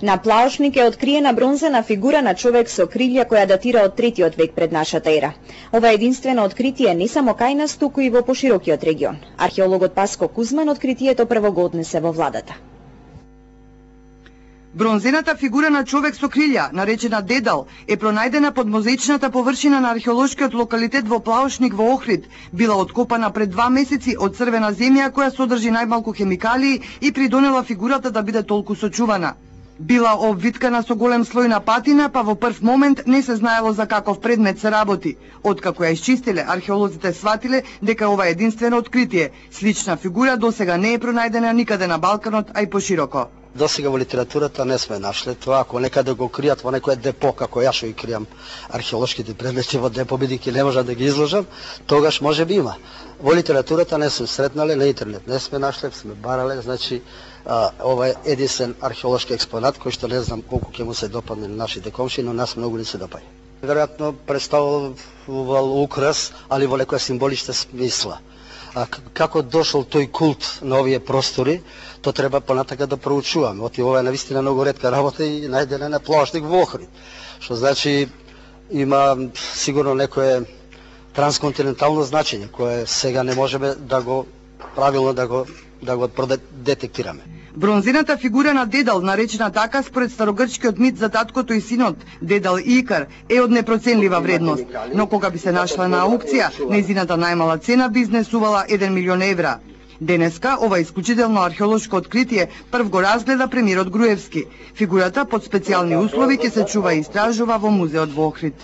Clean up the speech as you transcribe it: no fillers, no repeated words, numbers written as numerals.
На Плаошник е откриена бронзена фигура на човек со крилја која датира од 3-тиот век пред нашата ера. Ова е единствено откритие не само кај нас, туку и во поширокиот регион. Археологот Паско Кузман откритието прво го однесе во владата. Бронзената фигура на човек со крилја, наречена Дедал, е пронајдена под мозаичната површина на археолошкиот локалитет во Плаошник во Охрид. Била откопана пред 2 месеци од црвена земја која содржи најмалку хемикалии и придонела фигурата да биде толку сочувана. Била обвиткана со голем слој на патина, па во прв момент не се знаело за каков предмет се работи. Откако ја исчистиле, археолозите сватиле дека ова е единствено откритие. Слична фигура досега не е пронајдена никаде на Балканот, а и пошироко. Досега во литературата не сме нашле тоа, ако некаде го кријат во некое депо, како ја што ги кријам археолошките предмети во депо, бидејќи не можам да ги изложам, тогаш може би има. Во литературата не сме сретнале, на интернет не сме нашле, сме барале, значи ова е единствен археолошки експонат кој што не знам колку ќе му се допадне на нашите комши, но нас многу не се допаѓа. Веројатно представувал украс, али во некоја символична смисла. А како дошол тој култ на овие простори, то треба понатака да проучуваме. Оти ова е навистина многу ретка работа и најдена на Плаошник во Охрид. Што значи има сигурно некое трансконтинентално значење кое сега не можеме да го правилно да го детектираме. Бронзената фигура на Дедал, наречена така според старогрчкиот мит за таткото и синот, Дедал и Икар, е од непроценлива вредност, но кога би се нашла на аукција, нејзината најмала цена би изнесувала 1 милион евра. Денеска ова исклучително археолошко откритие прв го разгледа премиерот Груевски. Фигурата под специјални услови ќе се чува и истражува во музеот во Охрид.